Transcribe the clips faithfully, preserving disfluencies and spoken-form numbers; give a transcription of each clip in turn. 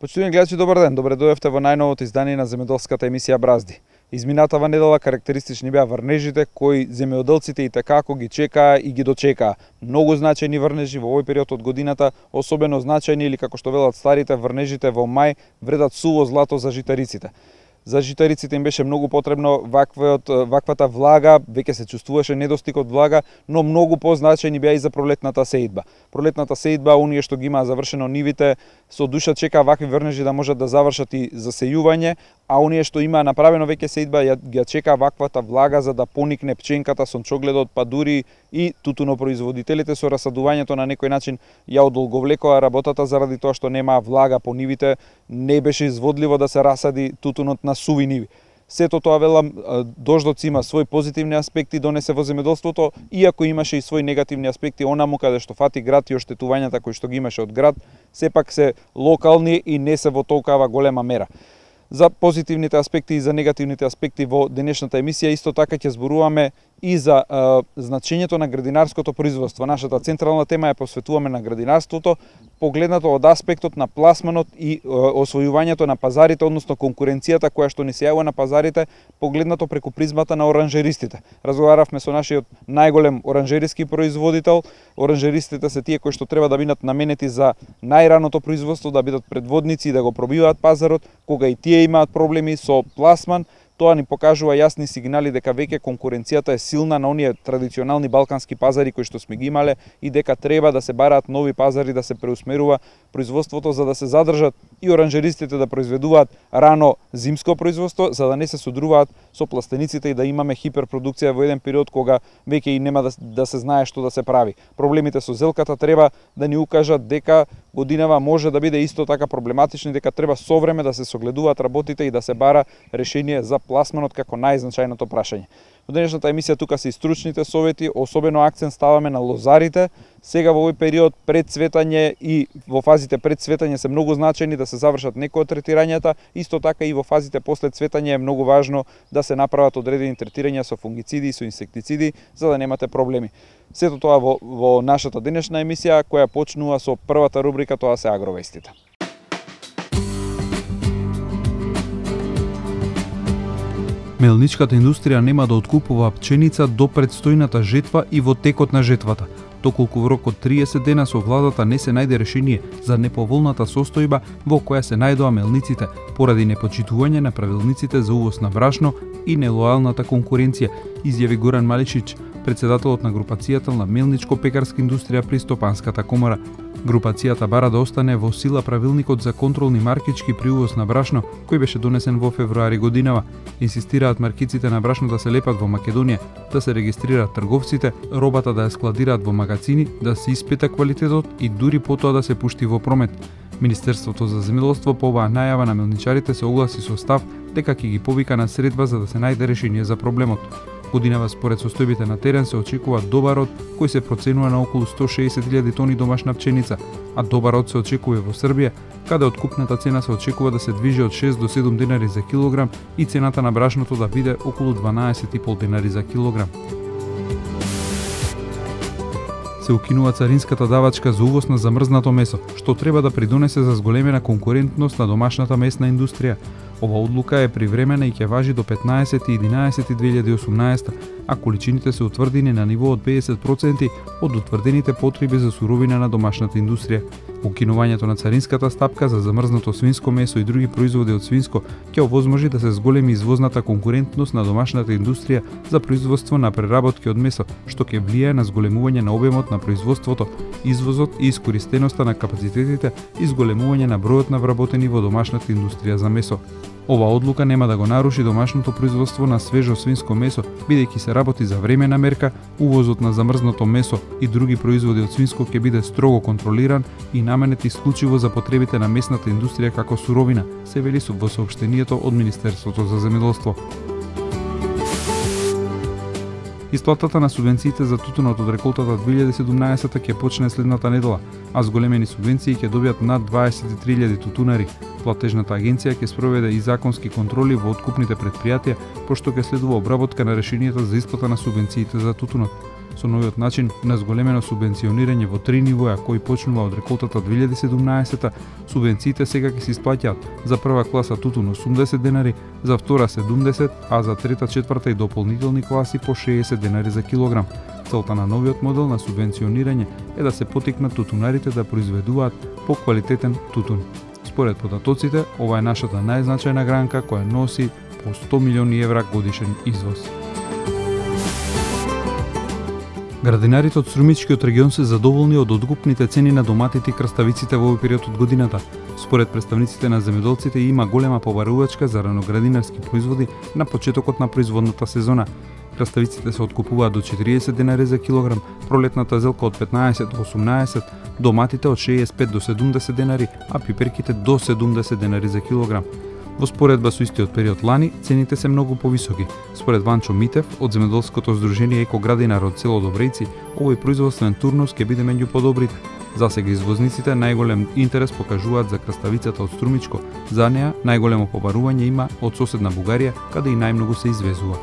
Почитувани гледачи, добар ден. Добре дојдовте во најновото издание на земјоделската емисија Бразди. Изминатава недела карактеристични беа врнежите кои земјоделците и така ги чекаа и ги дочекаа. Многу значајни врнежи во овој период од годината, особено значајни или како што велат старите, врнежите во мај вредат суво злато за житариците. За житариците им беше многу потребно ваквиот, ваквата влага, веќе се чувствуваше недостиг од влага, но многу позначајни беа и за пролетната сеидба. Пролетната сеидба, оние што ги имаа завршено нивите, со душа чекаа вакви врнежи да можат да завршат и засејување, а оние што имаа направено веќе сеидба, ја, ја чекаа ваквата влага за да поникне пченката, сончогледот, па дури и тутунопроизводителите со расадувањето на некој начин ја одолговлекоа работата заради тоа што немаа влага по нивите, не беше изводливо да се расади тутунот на суви ниви. Сето тоа, велам, дождоци има свој позитивни аспекти, донесе во земјоделството, иако имаше и свој негативни аспекти онаму каде што фати град и оштетувањата кои што ги имаше од град, сепак се локални и не се во толкава голема мера. За позитивните аспекти и за негативните аспекти во денешната емисија исто така ќе зборуваме и за е, значењето на градинарското производство. Нашата централна тема ја посветуваме на градинарството, погледнато од аспектот на пласманот и е, освојувањето на пазарите, односно конкуренцијата која што ни се јавува на пазарите, погледнато преку призмата на оранжеристите. Разговаравме со нашиот најголем оранжериски производител. Оранжеристите се тие кои што треба да бидат наменети за најраното производство, да бидат предводници и да го пробиваат пазарот, кога и тие имаат проблеми со пласман. Тоа ни покажува јасни сигнали дека веќе конкуренцијата е силна на оние традиционални балкански пазари кои што сме ги имале и дека треба да се бараат нови пазари, да се преусмерува производството за да се задржат и оранжеристите да произведуваат рано зимско производство, за да не се содруваат со пластениците и да имаме хиперпродукција во еден период кога веќе и нема да, да се знае што да се прави. Проблемите со зелката треба да ни укажат дека годинава може да биде исто така проблематични, дека треба со време да се согледуваат работите и да се бара решение за пласманот како најзначајното прашање. Во денешната емисија тука се и стручните совети, особено акцент ставаме на лозарите. Сега во овој период пред цветање и во фазите пред цветање се многу значајни да се завршат некои од третирањата, исто така и во фазите после цветање е многу важно да се направат одредени третирања со фунгициди и со инсектициди за да немате проблеми. Сето тоа во, во нашата денешна емисија која почнува со првата рубрика, тоа се агровестите. Мелничката индустрија нема да откупува пченица до предстојната жетва и во текот на жетвата, доколку во рок од триесет дена со владата не се најде решение за неповолната состојба во која се најдоа мелниците поради непочитување на правилниците за увоз на брашно и нелојалната конкуренција, изјави Горан Малишич, председателот на групацијата на мелничко-пекарска индустрија при Стопанската комора. Групацијата бара да остане во сила правилникот за контролни маркички при увоз на брашно, кој беше донесен во февруари годинава. Инсистираат маркиците на брашно да се лепат во Македонија, да се регистрираат трговците, робата да ја складираат во магазини, да се испита квалитетот и дури потоа да се пушти во промет. Министерството за земјоделство по оваа најава на мелничарите се огласи со став дека ќе ги повика на средба за да се најде решение за проблемот. Годинава според состојбите на терен се очекува добарот кој се проценува на околу сто шеесет илјади тони домашна пченица, а добарот се очекува во Србија, каде откупната цена се очекува да се движи од шест до седум денари за килограм и цената на брашното да биде околу дванаесет и пол денари за килограм. Се укинува царинската давачка за увоз на замрзнато месо, што треба да придонесе за зголемена конкурентност на домашната месна индустрија. Ова одлука е привремена и ќе важи до петнаесети единаесети две илјади и осумнаесета, а количините се утврдени на ниво од педесет проценти од утврдените потреби за суровина на домашната индустрија. Укинувањето на царинската стапка за замрзнато свинско месо и други производи од свинско ќе овозможи да се зголеми извозната конкурентност на домашната индустрија за производство на преработки од месо, што ќе влијае на зголемување на обемот на производството, извозот и искористеноста на капацитетите и зголемување на бројот на вработени во домашната индустрија за месо. Ова одлука нема да го наруши домашното производство на свежо свинско месо, бидејќи се работи за времена мерка, увозот на замрзнато месо и други производи од свинско ќе биде строго контролиран и наменет исклучиво за потребите на месната индустрија како суровина, се вели во соопштението од Министерството за земјоделство. Исплатата на субвенциите за тутунот од реколтата две илјади и седумнаесета ќе почне следната недела, а зголемени субвенции ќе добијат над дваесет и три илјади тутунари. Платежната агенција ќе спроведе и законски контроли во откупните претпријатија, пошто ќе следува обработка на решенијата за исплата на субвенциите за тутунот. Со новиот начин на зголемено субвенционирање во три нивоа кој почнува од реколтата две илјади и седумнаесета, субвенциите сега ќе се исплаќаат за прва класа тутун осумдесет денари, за втора седумдесет, а за трета, четврта и дополнителни класи по шеесет денари за килограм. Целта на новиот модел на субвенционирање е да се поттикнат тутунарите да произведуваат поквалитетен тутун. Според податоците, ова е нашата најзначајна гранка која носи по сто милиони евра годишен извоз. Градинарите од Струмичкиот регион се задоволни од откупните цени на доматите и краставиците во овој период од годината. Според представниците на земјоделците има голема побарувачка за раноградинарски производи на почетокот на производната сезона. Краставиците се откупуваат до четириесет денари за килограм, пролетната зелка од петнаесет до осумнаесет, доматите од шеесет и пет до седумдесет денари, а пиперките до седумдесет денари за килограм. Во споредба со истиот период лани, цените се многу повисоки. Според Ванчо Митев од земјоделското здружение Екоградинар од село Добрејци, овој производствен турнус ќе биде меѓу подобрите. Засега извозниците најголем интерес покажуваат за краставицата од Струмичко. За неа најголемо побарување има од соседна Бугарија, каде и најмногу се извезува.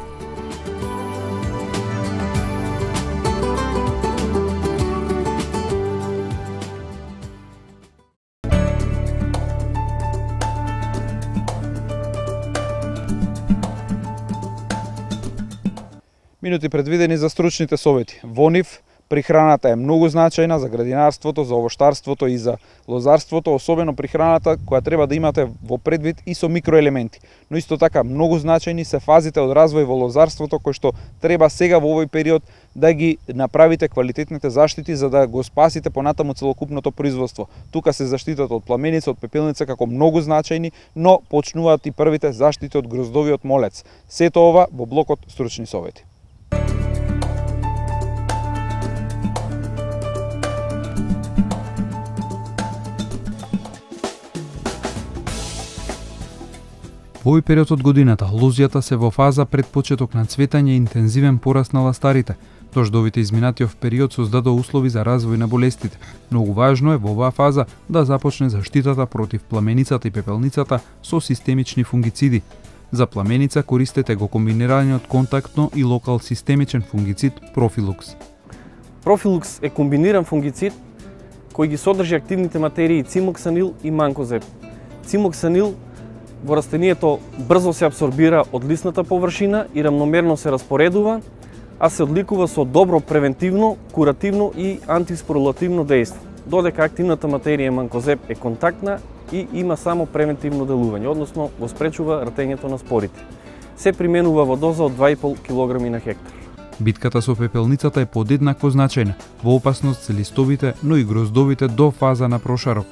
Минути предвидени за стручните совети. Во нив прихраната е многу значајна за градинарството, за овоштарството и за лозарството, особено прихраната која треба да имате во предвид и со микроелементи. Но исто така многу значајни се фазите од развој во лозарството кои што треба сега во овој период да ги направите квалитетните заштити за да го спасите понатаму целокупното производство. Тука се заштитат од пламеница, од пепелница како многу значајни, но почнуваат и првите заштити од гроздовиот молец. Сето ова во блокот стручни совети. Во овој период од годината, лозјата се во фаза пред почеток на цветање и интензивен пораст на ластарите. Дождовите изминатиот период создадоа услови за развој на болестите. Многу важно е во оваа фаза да започне заштитата против пламеницата и пепелницата со системични фунгициди. За пламеница користете го комбинираниот контактно и локал системичен фунгицид Профилукс. Профилукс е комбиниран фунгицид кој ги содржи активните материи цимоксанил и манкозеб. Цимоксанил во растението брзо се апсорбира од лисната површина и рамномерно се распоредува, а се одликува со добро превентивно, куративно и антиспорулативно дејство. Додека активната материја манкозеб е контактна и има само превентивно делување, односно го спречува растењето на спорите. Се применува во доза од два и пол килограми на хектар. Битката со пепелницата е подеднакво значајна. Во опасност се листовите, но и гроздовите до фаза на прошарок.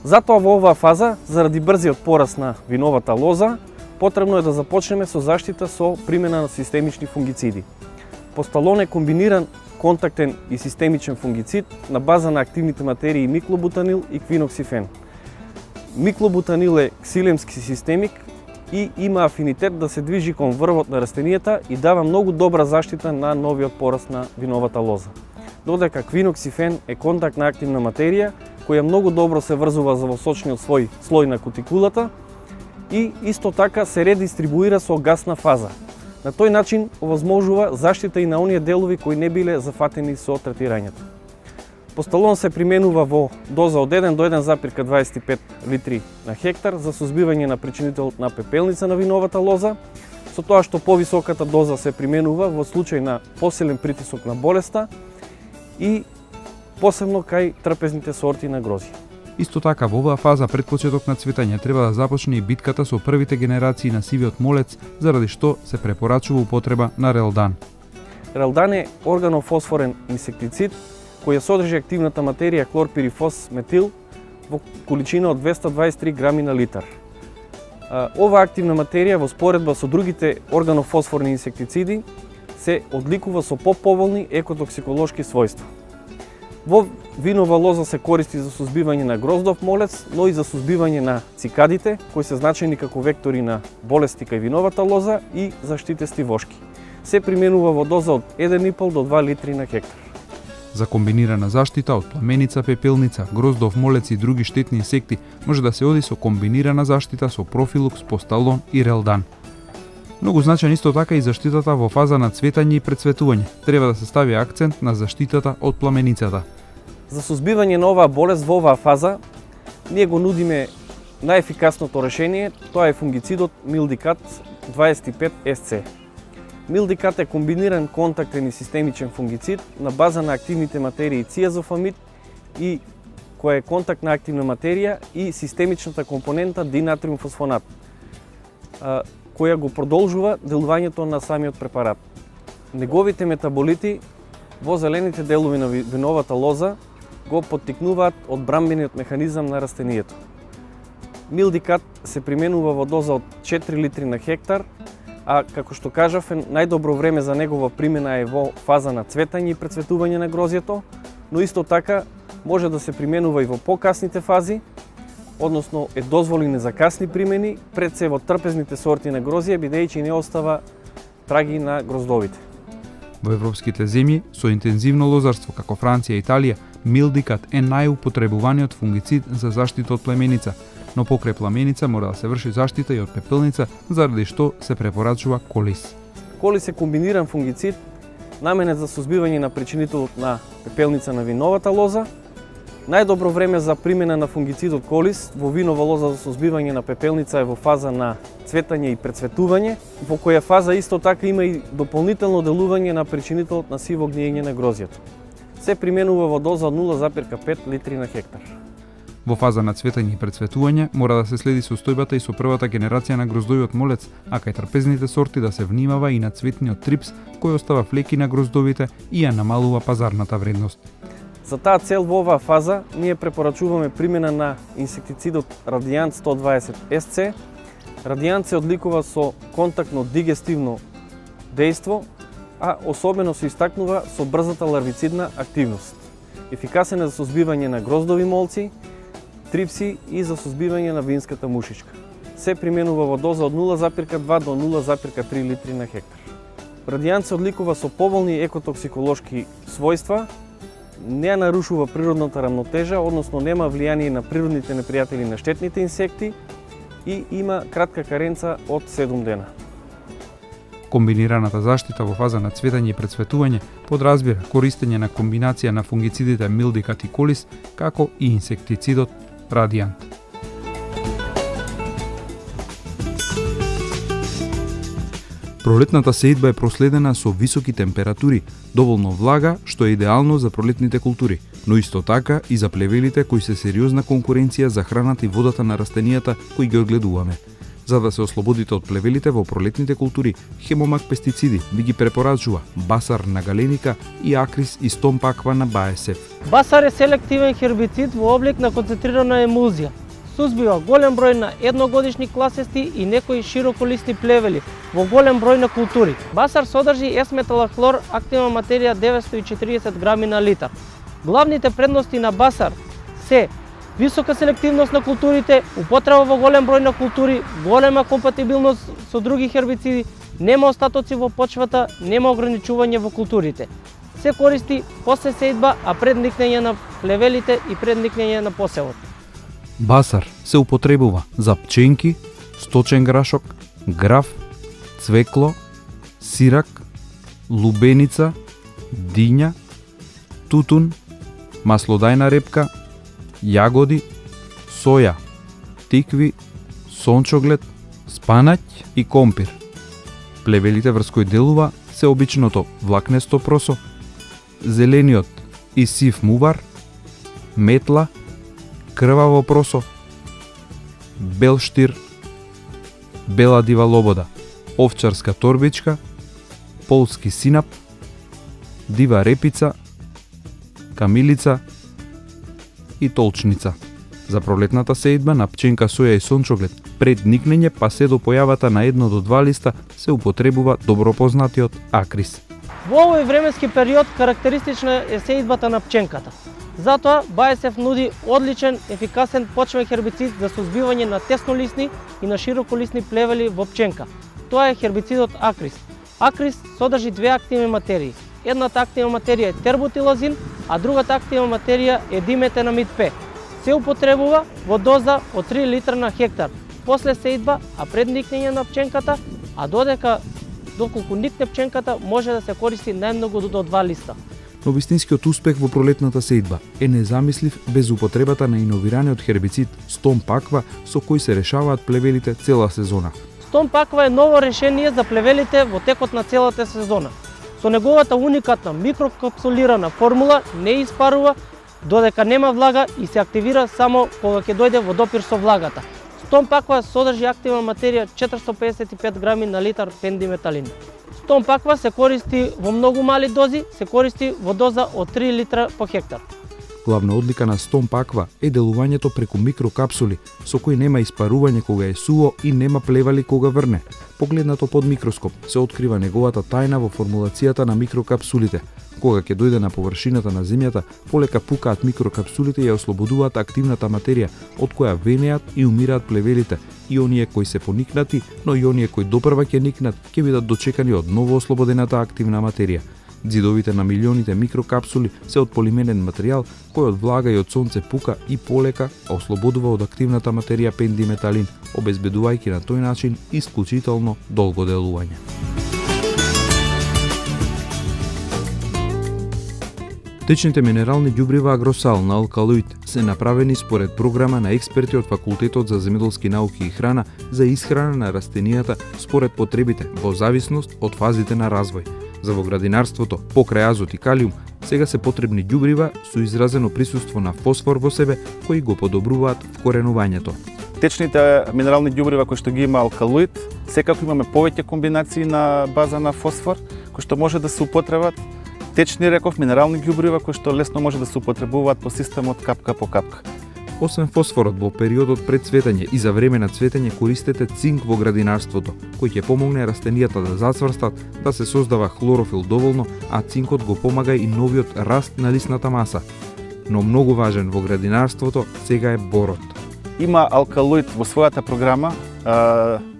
Затоа во оваа фаза, заради брзиот пораст на виновата лоза, потребно е да започнеме со заштита со примена на системични фунгициди. Посталон е комбиниран контактен и системичен фунгицид на база на активните материи миклобутанил и квиноксифен. Миклобутанил е ксилемски системик и има афинитет да се движи кон врвот на растенијата и дава многу добра заштита на новиот пораст на виновата лоза. Додека квиноксифен е контактна активна материја која многу добро се врзува за во сочниот свој слој на кутикулата и исто така се редистрибуира со гасна фаза. На тој начин овозможува заштита и на оние делови кои не биле зафатени со третирањето. Посталон се применува во доза од еден до еден запирка дваесет и пет литри на хектар за сузбивање на причинителот на пепелница на виновата лоза, со тоа што повисоката доза се применува во случај на посилен притисок на болеста и посебно кај трпезните сорти на грозје. Исто така, во оваа фаза пред почеток на цветање треба да започне и битката со првите генерации на сивиот молец, заради што се препорачува употреба на Релдан. Релдан е органофосфорен инсектицид која содржи активната материја хлорпирифос метил во количина од двесте дваесет и три грами на литар. Оваа активна материја во споредба со другите органофосфорни инсектициди се одликува со поповолни екотоксиколошки својства. Во винова лоза се користи за сузбивање на гроздов молец, но и за сузбивање на цикадите, кои се значајни како вектори на болести кај виновата лоза и заштитести вошки. Се применува во доза од еден и пол до два литри на хектар. За комбинирана заштита од пламеница, пепелница, гроздов молец и други штетни инсекти може да се оди со комбинирана заштита со Профилукс, Посталон и Релдан. Многу значаен исто така и заштитата во фаза на цветање и прецветување. Треба да се стави акцент на заштитата од пламеницата. За сузбивање на оваа болест во оваа фаза, ние го нудиме најефикасното решение, тоа е фунгицидот Милдикат дваесет и пет Ес Це. Милдикат е комбиниран контактен и системичен фунгицид на база на активните материи циазофамид и која е контактна активна материја и системичната компонента динатриумфосфонат, која го продолжува делувањето на самиот препарат. Неговите метаболити во зелените делови на виновата лоза го поттикнуваат одбрамбениот механизам на растението. Милдикат се применува во доза од четири литри на хектар, а како што кажав, најдобро време за негова примена е во фаза на цветање и прецветување на грозјето, но исто така може да се применува и во покасните фази, односно е дозволени за касни примени, пред се во трпезните сорти на грозје, бидејќи не остава траги на гроздовите. Во европските земји со интензивно лозарство како Франција и Италија, Милдикат е најупотребуваниот фунгицид за заштита од племеница, но покрај пламеница мора да се врши заштита и од пепелница, заради што се препорачува колис. Колис е комбиниран фунгицид, наменет за сузбивање на причинителот на пепелница на виновата лоза. Најдобро време за примена на фунгицидот колис во винова лоза за сузбивање на пепелница е во фаза на цветање и прецветување, во која фаза исто така има и дополнително делување на причинителот на сиво гниење на грозјето. Се применува во доза од нула зарез пет литри на хектар. Во фаза на цветање и прецветување мора да се следи состојбата и со првата генерација на гроздовиот молец, а кај трпезните сорти да се внимава и на цветниот трипс кој остава флеки на гроздовите и ја намалува пазарната вредност. За таа цел во оваа фаза ние препорачуваме примена на инсектицидот Радиант сто дваесет Ес Це. Радиант се одликува со контактно дигестивно дејство, а особено се истакнува со брзата ларвицидна активност. Ефикасен е за сузбивање на гроздови молци, трипси и за сузбивање на винската мушичка. Се применува во доза од нула зарез два до нула зарез три литри на хектар. Радиант се одликува со поволни екотоксиколошки својства, не ја нарушува природната рамнотежа, односно нема влијание на природните непријатели на штетните инсекти и има кратка каренца од седум дена. Комбинираната заштита во фаза на цветање и прецветување подразбира користење на комбинација на фунгицидите Милдикат и колис, како и инсектицидот Радиант. Пролетната сеидба е проследена со високи температури, доволно влага, што е идеално за пролетните култури, но исто така и за плевелите кои се сериозна конкуренција за храната и водата на растенијата кои ги одгледуваме. За да се ослободите од плевелите во пролетните култури, Хемомак пестициди ви ги препорачува Басар на Галеника и Акрис и Стомпаква на Баесеф. Басар е селективен хербицид во облик на концентрирана емулзија. Сузбива голем број на едногодишни класести и некои широколисни плевели во голем број на култури. Басар содржи есметалахлор, активна материја деветстотини и четиридесет грами на литар. Главните предности на Басар се висока селективност на културите, употреба во голем број на култури, голема компатибилност со други хербициди, нема остатоци во почвата, нема ограничување во културите. Се користи после сеидба, а пред никнење на плевелите и пред никнење на посевот. Басар се употребува за пченки, сточен грашок, граф, цвекло, сирак, лубеница, диња, тутун, маслодајна репка, јагоди, соја, тикви, сончоглед, спанаќ и компир. Плевелите врз кои делува се обичното влакнесто просо, зелениот и сив мувар, метла, крваво просо, бел штир, бела дива лобода, овчарска торбичка, полски синап, дива репица, камилица и толчница. За пролетната сеидба на пченка, соја и сончоглед пред никнење па се до појавата на едно до два листа се употребува добро познатиот Акрис. Во овој временски период карактеристична е сеидбата на пченката. Затоа Баесеф нуди одличен, ефикасен почвен хербицид за сузбивање на теснолисни и на широколисни плевели во пченка. Тоа е хербицидот Акрис. Акрис содржи две активни материи. Едната активна материја е тербутилазин, а другата активна материја е диметенамид П. Се употребува во доза од три литра на хектар после сеидба, а пред никнење на пченката а додека доколку никне пченката може да се користи најмногу до два листа. Но вистинскиот успех во пролетната сејдба е незамислив без употребата на иновираниот хербицид Stomp Aqua со кој се решаваат плевелите цела сезона. Stomp Aqua е ново решение за плевелите во текот на целата сезона. Со неговата уникатна микрокапсулирана формула не испарува додека нема влага и се активира само кога ќе дојде во допир со влагата. Stomp Aqua содржи активна материја четиристотини педесет и пет грами на литар пендиметалин. Stomp Aqua се користи во многу мали дози, се користи во доза од три литра по хектар. Главна одлика на Stomp Aqua е делувањето преку микрокапсули, со кои нема испарување кога е суво и нема плевали кога врне. Погледнато под микроскоп се открива неговата тајна во формулацијата на микрокапсулите. Кога ќе дојде на површината на земјата, полека пукаат микрокапсулите и ја ослободуваат активната материја, од која венеат и умираат плевелите, и оние кои се поникнати, но и оние кои допрва ќе никнат, ќе бидат дочекани од ново ослободената активна материја. Дзидовите на милионите микрокапсули се од полимерен материјал кој од влага и од сонце пука и полека ослободува од активната материја пендиметалин, обезбедувајќи на тој начин исклучително долго делување. Течните минерални ѓубрива Агросал на алкалоид се направени според програма на експерти од Факултетот за земјоделски науки и храна за исхрана на растенијата според потребите во зависност од фазите на развој. За во градинарството, покрај азот и калиум, сега се потребни ѓубрива со изразено присуство на фосфор во себе, кои го подобруваат вкоренувањето. Течните минерални ѓубрива кои што ги има алкалоид, секако имаме повеќе комбинации на база на фосфор, кои што може да се употребат. Течни, реков, минерални ѓубрива кои што лесно може да се употребуваат по системот капка по капка. Освен фосфорот во периодот пред цветење и за време на цветење користете цинк во градинарството, кој ќе помогне растенијата да зацврстат, да се создава хлорофил доволно, а цинкот го помага и новиот раст на лисната маса. Но многу важен во градинарството сега е борот. Има алкалоид во својата програма,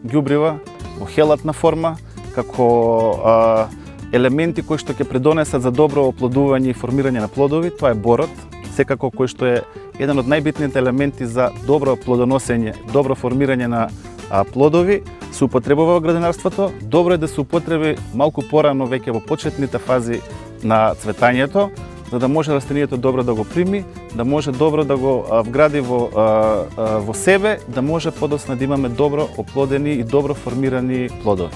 ѓубрива во хелатна форма, како а, елементи кои што ќе придонесат за добро оплодување и формирање на плодови, тоа е борот, секако кој што е еден од најбитните елементи за добро плодоносење, добро формирање на а, плодови, се употребува во градинарството. Добро е да се употреби малку порано веќе во почетните фази на цветањето, за да може растенијето добро да го прими, да може добро да го а, вгради во, а, а, во себе, да може подоцна да имаме добро оплодени и добро формирани плодови.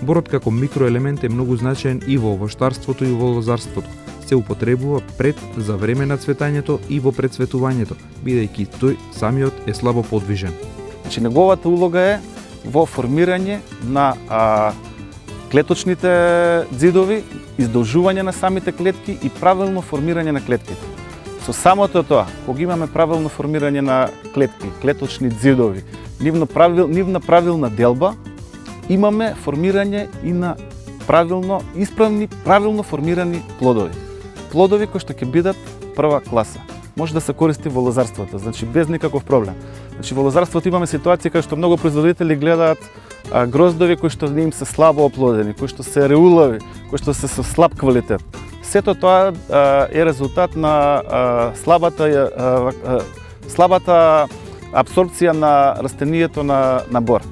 Борот како микроелемент е многу значаен и во овоштарството и во лозарството. Се употребува пред, за време на цветањето и во прецветувањето, бидејќи тој самиот е слабо подвижен. Значи, неговата улога е во формирање на а, клеточните дзидови, издолжување на самите клетки и правилно формирање на клетките. Со самото тоа, кога имаме правилно формирање на клетки, клеточни дзидови, нивно правил, нивна правилна делба, имаме формирање и на правилно, исправни, правилно формирани плодови. Плодови кои што ќе бидат прва класа. Може да се користи во лозарството, значи без никаков проблем. Значи во лозарството имаме ситуација кај што многу производители гледаат а, гроздови кои што им се слабо оплодени, кои што се реулави, кои што се со слаб квалитет. Сето тоа а, е резултат на а, слабата а, а, слабата апсорбција на растенијето на, на бор.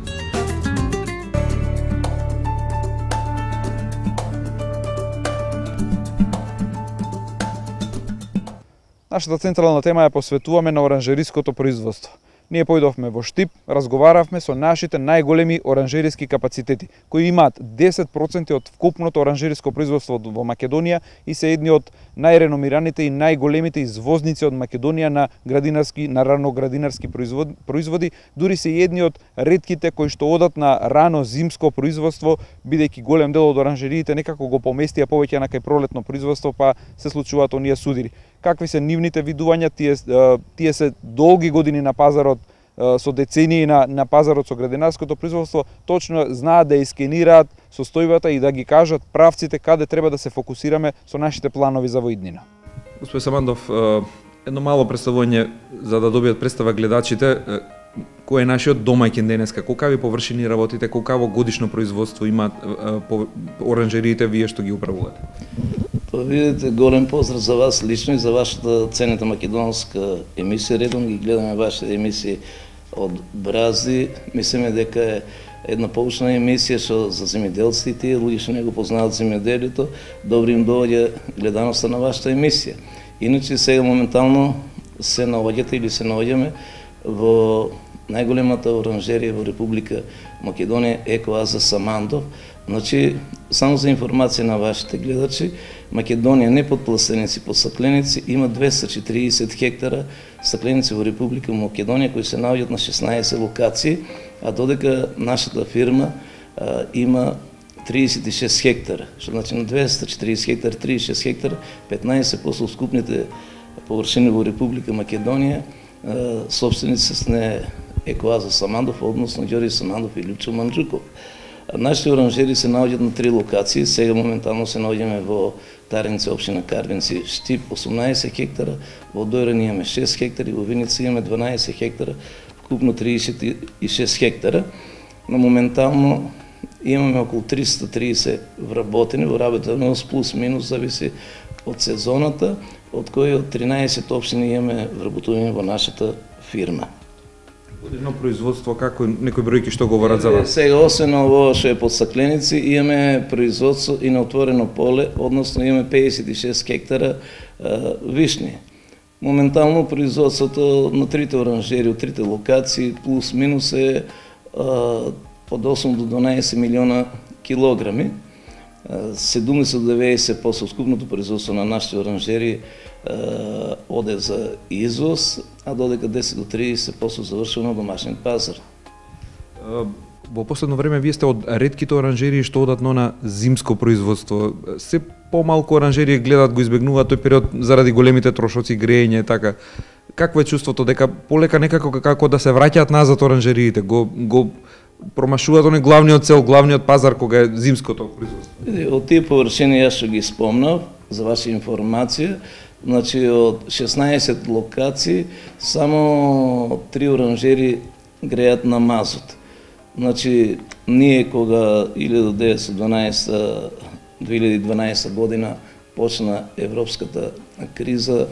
Нашата централна тема ја посветуваме на оранжериското производство. Ние појдовме во Штип, разговаравме со нашите најголеми оранжериски капацитети, кои имаат десет проценти од вкупното оранжериско производство во Македонија и се едни од најреномираните и најголемите извозници од Македонија на градинарски, на раноградинарски производи, производи, дури се едни од ретките кои што одат на рано зимско производство, бидејќи голем дел од оранжериите некако го поместија повеќе на кај пролетно производство, па се случуваат оние судири. Какви се нивните видувања, тие, тие се долги години на пазарот, со децении на, на пазарот со градинарското производство, точно знаат да искенираат состојбата и да ги кажат правците каде треба да се фокусираме со нашите планови за во иднина. Господин Самандов, едно мало представување за да добијат представа гледачите, кој е нашиот домаќин денеска, колкави површини работите, колкаво годишно производство имаат оранжериите вие што ги управувате? Па видите, голем поздрав за вас лично и за вашата ценета македонска емисија. Редом ги гледаме вашите емисии од Бразди. Мислиме дека е една поучна емисија што за земјоделците и луѓе што не го познаат земјоделието, добро им доаѓа гледаноста на вашата емисија. Иначе сега моментално се наоѓате или се наоѓаме во најголемата оранжерија во Република Македонија, Екоаза Самандов. Значи, само за информација на вашите гледачи, Македонија не под пластеници, под стакленици има двеста и четириесет хектара стакленици во Република Македонија кои се наоѓаат на шеснаесет локации, а додека нашата фирма а, има триесет и шест хектара, што значи на двеста и четириесет хектара, триесет и шест хектара, петнаесет проценти од скупните површини во Република Македонија, а, собственици сне Екоаза Самандов, односно Ѓорѓе Самандов и Лјупчо Манџуков. Нашите оранжери се наоѓаат на три локации, сега моментално се наоѓаме во Тареница, општина Карвинци, Штип осумнаесет хектара, во Дојран имаме шест хектари, во Виница имаме дванаесет хектара, вкупно триесет и шест хектара. Но моментално имаме околу триста и триесет вработени, во работеност плюс минус зависи од сезоната, од кои од тринаесет општини имаме вработување во нашата фирма. Годишно производство, како некои бројки што говорат за вас? Сега, освен ово што е под стакленици, имаме производство и на отворено поле, односно имаме педесет и шест хектара а, вишни. Моментално производството на трите оранжери, од трите локации, плюс минус е а, од осум до дванаесет милиона килограми. седумдесет до деветдесет проценти од скупното производство на нашите оранжери оде за извоз, а додека десет до триесет проценти завршува на домашниот пазар. Во последно време вие сте од ретките оранжерии што одат на зимско производство. Се помалку оранжерии гледат, го избегнуваат тој период заради големите трошоци, грејење, така. Какво е чувството дека полека некако како да се враќаат назад оранжериите, го го промашуваат оној главниот цел, главниот пазар кога е зимското производство? Од тие површини јас што ги спомнав, за ваша информација, значи од шеснаесет локации само три оранжери греат на мазот. Значи ние кога илјада деветстотини и дванаесета две илјади и дванаесета година почна европската криза,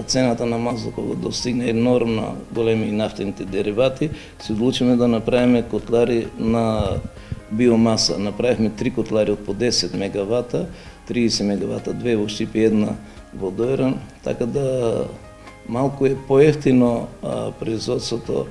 цената на мазот кога достигна енормно големи нафтените деривати, се одлучиме да направиме котлари на биомаса. Направивме три котлари од по десет мегавата, триесет мегавата, две во Штип и една во Дојран, така да малку е поевтино производството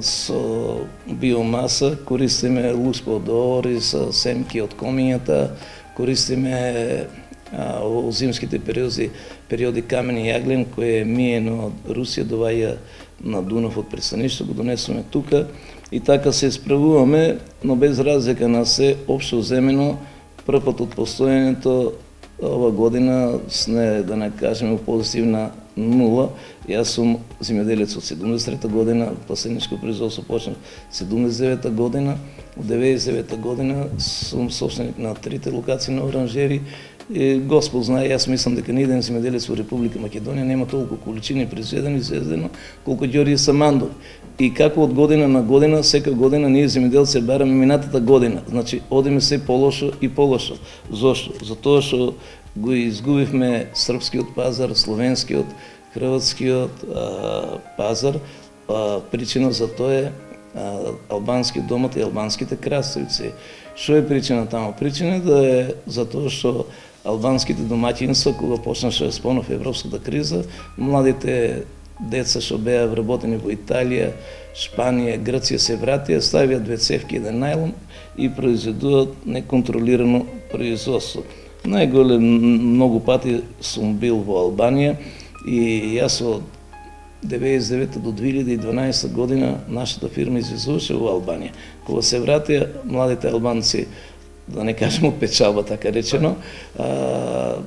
со биомаса, користиме луспо од ориз, семки од комињата, користиме а, во зимските периоди, периоди камени јаглен кој е миено од Русија, доваја на Дунав од пристаништо, го донесуваме тука и така се справуваме, но без разлика на се, општо земено, прв пат од постојањето ова година сне, да не кажеме, позитивна нула. Јас сум земјоделец од седумдесет и трета година, пластеничко производство почнав седумдесет и девета година, од деветдесет и девета година сум собственик на трите локации на оранжери. И Господ знае, јас мислам дека ниеден земјоделец во Република Македонија нема толку количини произведено и изведено колку Ѓорѓе Самандов. И како од година на година, сека година ние земјоделци бараме минатата година. Значи, одиме се полошо и полошо. Зошто? Затоа што го изгубивме српскиот пазар, словенскиот, хрватскиот а, пазар. А, причина за тоа е а, албанскиот домат и албанските краставици. Што е причина таму? Причина да е затоа што албанските домаќинства, кога почнаше да спомнав европската криза, младите деца што беа вработени во Италија, Шпанија, Грција се вратија, ставија две цевки, еден најлон и произведуваат неконтролирано производство. Најголем многу пати сум бил во Албанија и јас од деветдесет и девета до две илјади и дванаесета година нашата фирма извезуваше во Албанија. Кога се вратија, младите албанци, да не кажем од печалба, така речено, а,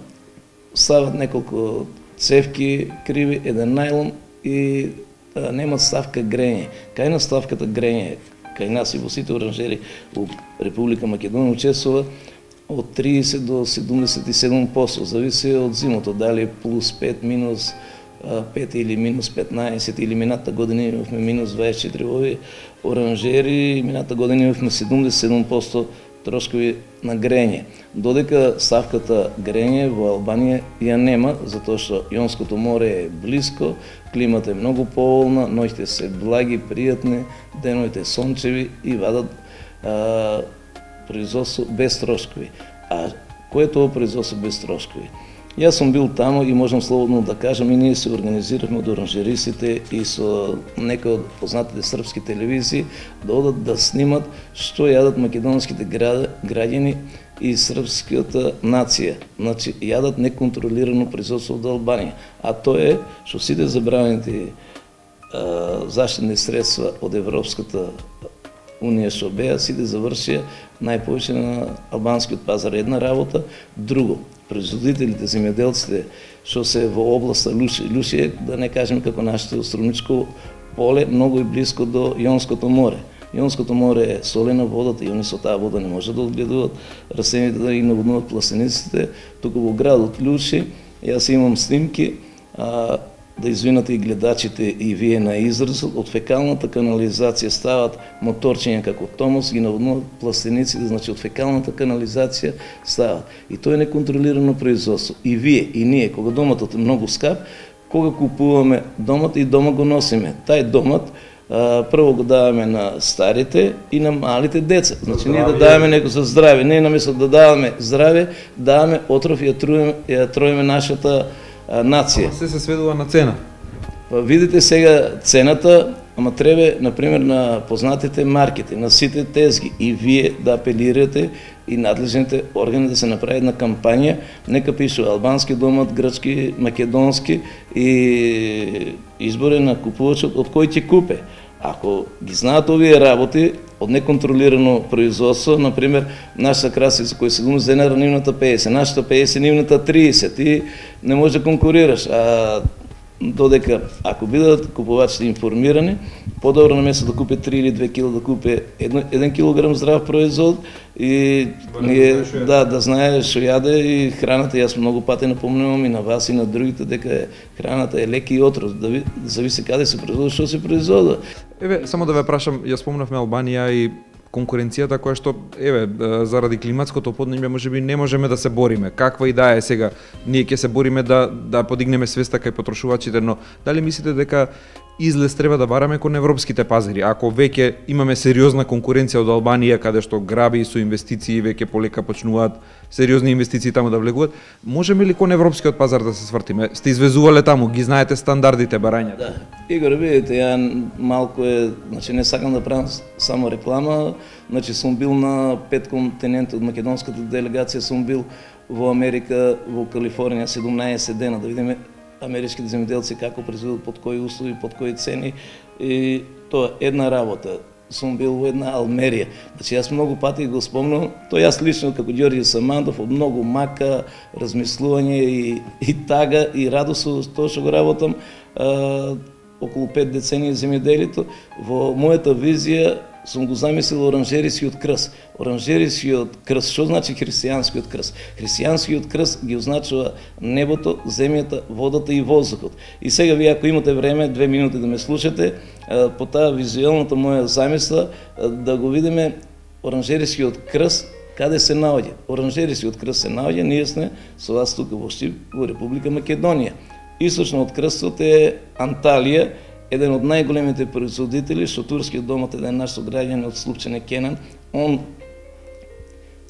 стават неколку цевки криви, еден најлон и а, немат ставка грење. Кај на ставката грење, кај нас и во сите оранжери во Република Македонија учествува од триесет до седумдесет и седум проценти, зависи од зимото, дали плюс пет, минус пет или минус петнаесет, или мината година имавме минус дваесет и четири во овие оранжери, мината година имавме седумдесет и седум проценти трошкови на грење. Додека ставката грење во Албанија ја нема, затоа што Јонското море е блиско, климата е многу поволна, ноќите се благи, пријатни, деновите сончеви и вадат а, производство без трошкови. А кој е тоа производство без трошкови? Јас сум бил таму и можам слободно да кажам, и ние се организирахме од оранжеристите и со некои од познатите српски телевизии да одат да снимат што јадат македонските граѓани и српската нација. Значи, јадат неконтролирано производство од Албанија. А тоа е што сите забранети заштитни средства од Европската Унија што беа, сите завршија најповеќе на албанскиот пазар. Една работа, друго. Производителите, земјоделците што се во областа Луши, Луши е, да не кажем како нашето Струмничко поле, многу и близко до Јонското море. Јонското море е солена водата и они со таа вода не може да одгледуваат растените да ги наводнуваат пластениците. Туку во градот Луши, јас имам снимки, а, да извинате и гледачите и вие на изразот, од фекалната канализација стават моторчиња како Томос, ги наводнуваат пластениците, значи од фекалната канализација стават. И тоа е неконтролирано производство. И вие, и ние, кога доматот е многу скап, кога купуваме домат и дома го носиме. Тај домат а, прво го даваме на старите и на малите деца. Значи ние да даваме некој за здраве, не наместо да даваме здраве, даваме отров и ја труиме, ја троиме нашата нација. Се се сведува на цена. Па видите сега цената, ама треба, например, на познатите маркети, на сите тезги и вие да апелирате и надлежните органи да се направи една кампања, нека пишува албански домат, грчки, македонски и изборе на купувачот од кој ќе купе. Ако ги знаат овие работи од неконтролирано производство, например, нашата красица која се дума за една нивната пеесет, нашата пеесет, нивната триесет и не може да конкурираш. А додека ако бидат купувачите информирани, подобро наместо да купи три или две кила да купи еден килограм здрав производ и ние да да знае што јаде и храната. Јас многу пати напомнувам и на вас и на другите дека храната е лек и отров, да ви, зависи каде се производи, што се производи. Еве, само да ве прашам, ја спомнавме Албанија и конкуренцијата која што, еве, заради климатското поднебје можеби не можеме да се бориме. Каква и да е сега, ние ќе се бориме да да подигнеме свеста кај потрошувачите, но дали мислите дека излез треба да бараме кон европските пазари? Ако веќе имаме сериозна конкуренција од Албанија, каде што граби со инвестиции веќе полека почнуваат сериозни инвестиции таму да влегуваат, можеме ли кон европскиот пазар да се свртиме? Сте извезувале таму, ги знаете стандардите барањата? Да. Игор, видите, ја малку е, значи не сакам да правам само реклама, значи сум бил на пет континенти од македонската делегација, сум бил во Америка, во Калифорнија седумнаесет дена да видиме америчките земјоделци како произведуваат, под кои услови, под кои цени и тоа една работа. Сум бил во една Алмерија. Значи јас многу пати го спомнувам, тоа јас лично како Ѓорѓе Самандов од многу мака, размислување и, и тага и радост со тоа што го работам а, околу пет децении земјоделието. Во мојата визија сум го замислил оранжерискиот крст. Оранжерискиот крст, што значи христијанскиот крст? Христијанскиот крст ги означува небото, земјата, водата и воздухот. И сега вие ако имате време, две минути да ме слушате, по таа визуелната моја замисла, да го видиме оранжерискиот крст, каде се наоѓа. Оранжерискиот крст се наоѓа, ние сме со вас тука во Штип, во Република Македонија. Источно од крстот е Анталија, еден од најголемите производители, што турскиот домат, еден наш сограѓанин од Слупчене Кенан, он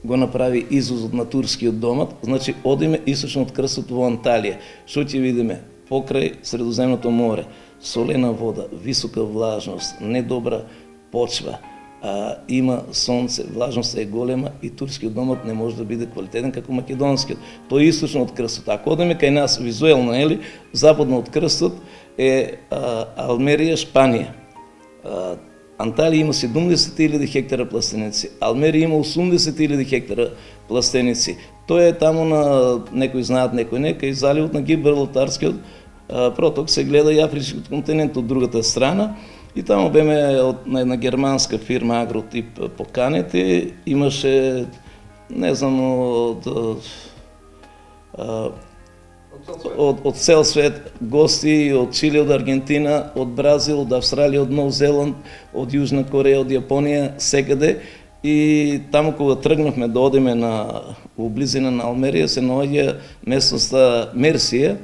го направи извозот на турскиот домат, значи одиме источно од крстот во Анталија. Што ќе видиме? Покрај Средоземното море, солена вода, висока влажност, недобра почва, а, има сонце, влажноста е голема и турскиот домат не може да биде квалитетен како македонскиот. Тоа е источно од крстот. Ако одиме кај нас визуелно, ели, западно од крстот е а, Алмерија, Шпанија. А, Анталија има седумдесет илјади хектара пластеници, Алмерија има осумдесет илјади хектара пластеници. Тоа е таму на, некои знаат, некои не, кај заливот на Гибралтарскиот проток се гледа и Афричкиот континент од другата страна. И таму беме од на една германска фирма Агротип поканети, имаше, не знам, од од, од цел свет гости, од Чили, од Аргентина, од Бразил, од Австралија, од Нов Зеланд, од Јужна Кореја, од Јапонија, секаде. И таму кога тргнавме да одиме на во близина на Алмерија, се наоѓа местноста Мерсија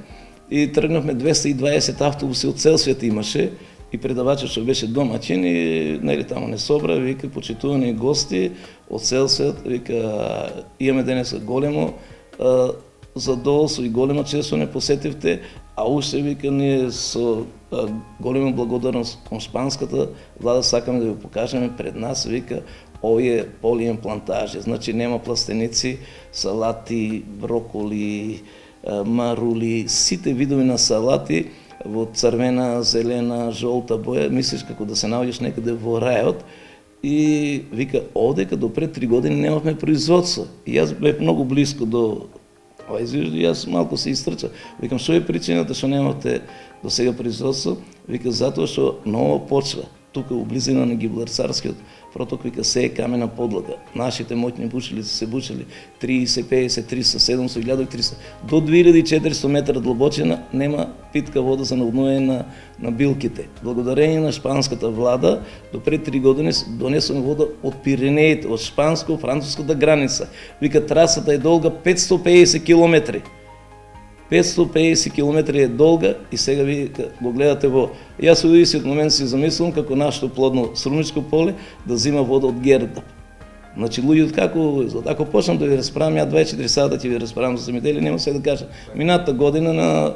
и тргнавме двесте и дваесет автобуси од цел свет имаше и предавачот што беше домаќин и нели таму не собра, вика почитувани гости од цел свет, вика имаме денеска големо а, задоволство и голема чест што не посетивте, а уште вика ние со а, голема благодарност кон шпанската влада сакаме да ви покажеме пред нас, вика овие полиен плантажи, значи нема пластеници, салати, броколи, а, марули, сите видови на салати во црвена, зелена, жолта боја, мислиш како да се наоѓаш некаде во рајот. И вика, одека до пред три години немавме производство. И јас бев многу близко до ова извижда, и јас малку се истрча. Викам, што е причината што немате до сега производство? Вика, затоа што нова почва. Тука у близина на Гибларцарскиот проток, вика, се е камена подлага. Нашите моќни бучилици се бучили триесет, пеесет, триста, седумстотини, илјада и триста. До две илјади и четиристо метра длабочина нема питка вода за наводнување на, на билките. Благодарение на шпанската влада, до пред три години донесуваме вода од Пиренеите, од шпанско-француската граница. Вика, трасата е долга петстотини и пеесет километри. петстотини и пеесет километри е долга и сега ви го гледате во... Јас во истиот момент си замислувам како нашето плодно срумничко поле да зима вода од Гердап. Значи луѓето како изгледа. Ако почнам да ви расправам, ја дваесет и четири сата ќе ви расправам за земјоделие, нема се да кажам. Минатата година на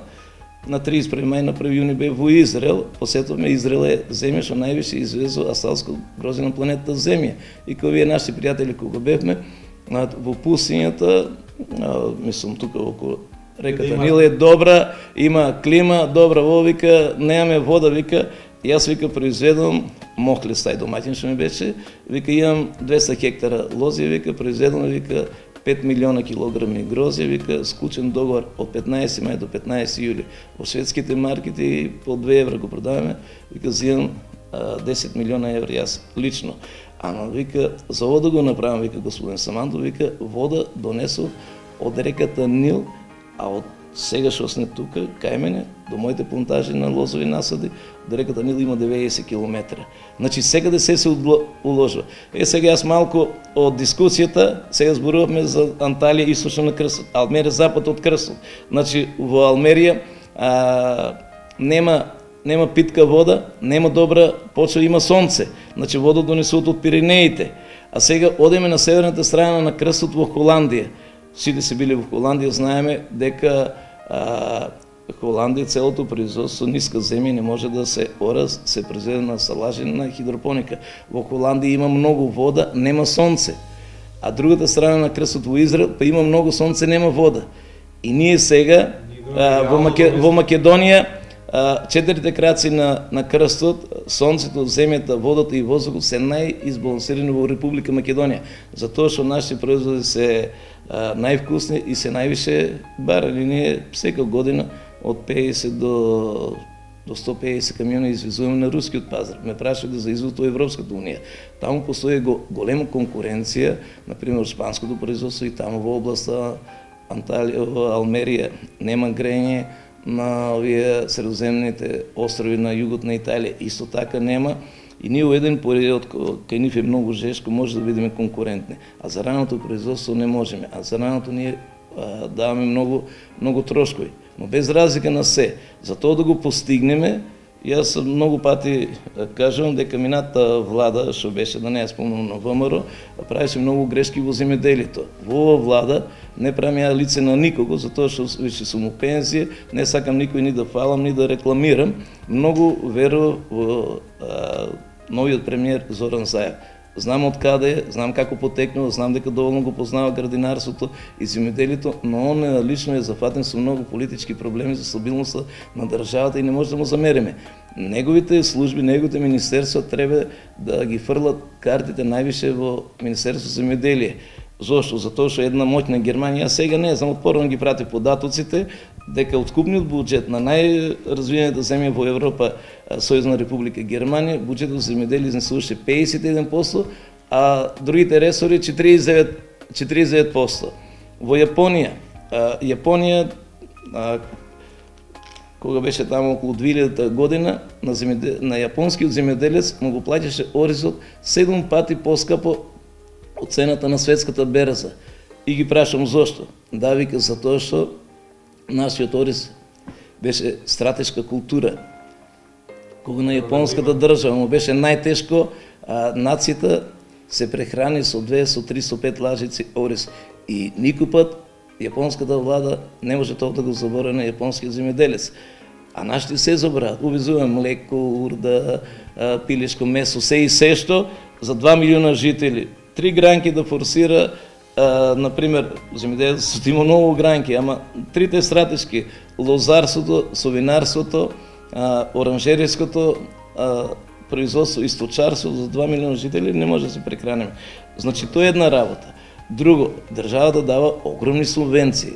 на триесет и први мај, на први јуни бев во Израел, посетуваме Израел е земја што највише извезува асталско грозде на планетата Земја. И кога вие наши пријатели кога бевме во пустињата, мислам тука околу реката Нил е добра, има клима, добра во, вика, немаме вода, вика, јас вика произведувам мохлес, тај домаќин што ми беше, вика имам двеста хектара лози, вика произведувам, вика пет милиона килограми грозје, вика склучен договор од петнаесети мај до петнаесети јули. Во шведските маркети по две евра го продаваме, вика зимам десет милиона евра јас лично. Ама вика за ово да го направам, вика господин Самандов, вика вода донесов од реката Нил, а од сега што сме тука, кај мене, до моите плантажи на лозови насади, до реката Нил има деветдесет километра. Значи секаде се се уложува. Е, сега јас малку од дискусијата, сега зборувавме за Анталија, источно на крстот, Алмерија, запад од крстот. Значи во Алмерија а, нема нема питка вода, нема добра почва, има сонце. Значи вода донесуваат од Пиренеите. А сега одеме на северната страна на крстот во Холандија. Сите се били во Холандија, знаеме дека а, Холандија целото производство ниска земја не може да се ора, се произведе на салажи на хидропоника. Во Холандија има многу вода, нема сонце. А другата страна на крстот во Израел, па има многу сонце, нема вода. И ние сега а, во, Маке, во Македонија а, четирите краци на, на крстот, сонцето, земјата, водата и воздухот се најизбалансирани во Република Македонија. Затоа што нашите производи се а, највкусни и се највише барани. Ние сека година од пеесет до до сто и пеесет камиони извезуваме на рускиот пазар. Ме прашале за извоз во Европската унија. Таму постои го, голема конкуренција, например шпанското производство и таму во областа Анталија, Алмерија нема грење на овие средоземните острови на југот на Италија. Исто така нема. И ние во еден период кај нив е многу жешко, може да бидеме конкурентни. А за раното производство не можеме. А за раното ние а, даваме многу, многу трошкови. Но без разлика на се. За тоа да го постигнеме, јас многу пати кажувам дека минатата влада, што беше, да не ја спомнам, на ВМРО, правеше многу грешки во земјоделието. Во ова влада не правам ја лице на никого, затоа што више сум у пензија, не сакам никој ни да фалам, ни да рекламирам. Многу верувам во а, новиот премиер Зоран Заев. Знам од каде е, знам како потекнува, знам дека доволно го познава градинарството и земјоделието, но он лично е зафатен со многу политички проблеми за стабилноста на државата и не може да му замериме. Неговите служби, неговите министерства треба да ги фрлат картите највише во Министерство за земјоделие. Зошто? Затоа што една моќна Германија, сега не знам, отпорно ги прати податоците, дека откупниот буџет на најразвиената земја во Европа, Сојузна република Германија, буџетот за земјоделие изнесуваше пеесет и еден проценти, а другите ресори четиридесет и девет проценти. Во Јапонија, Јапонија кога беше таму околу две илјадата година, на, земјоде... на јапонскиот земјоделец му го плаќаше оризот седум пати поскапо од цената на светската берза. И ги прашам зошто? Да, вика, затоа што нашиот ориз беше стратешка култура. кога на јапонската држава му беше најтешко, а нацијата се прехрани со две, со три, со пет лажици ориз. И никој пат јапонската влада не може тоа да го заборави на јапонскиот земјоделец. А нашите се забрават. Увезуваме млеко, урда, пилешко месо, се и се што за два милиона жители. Три гранки да форсира, а, например, земјоделците има многу гранки, ама трите стратешки, лозарството, совинарството, а, оранжеријското а, производство и сточарство за два милиона жители не може да се прехраниме. Значи, тоа е една работа. Друго, државата дава огромни субвенции.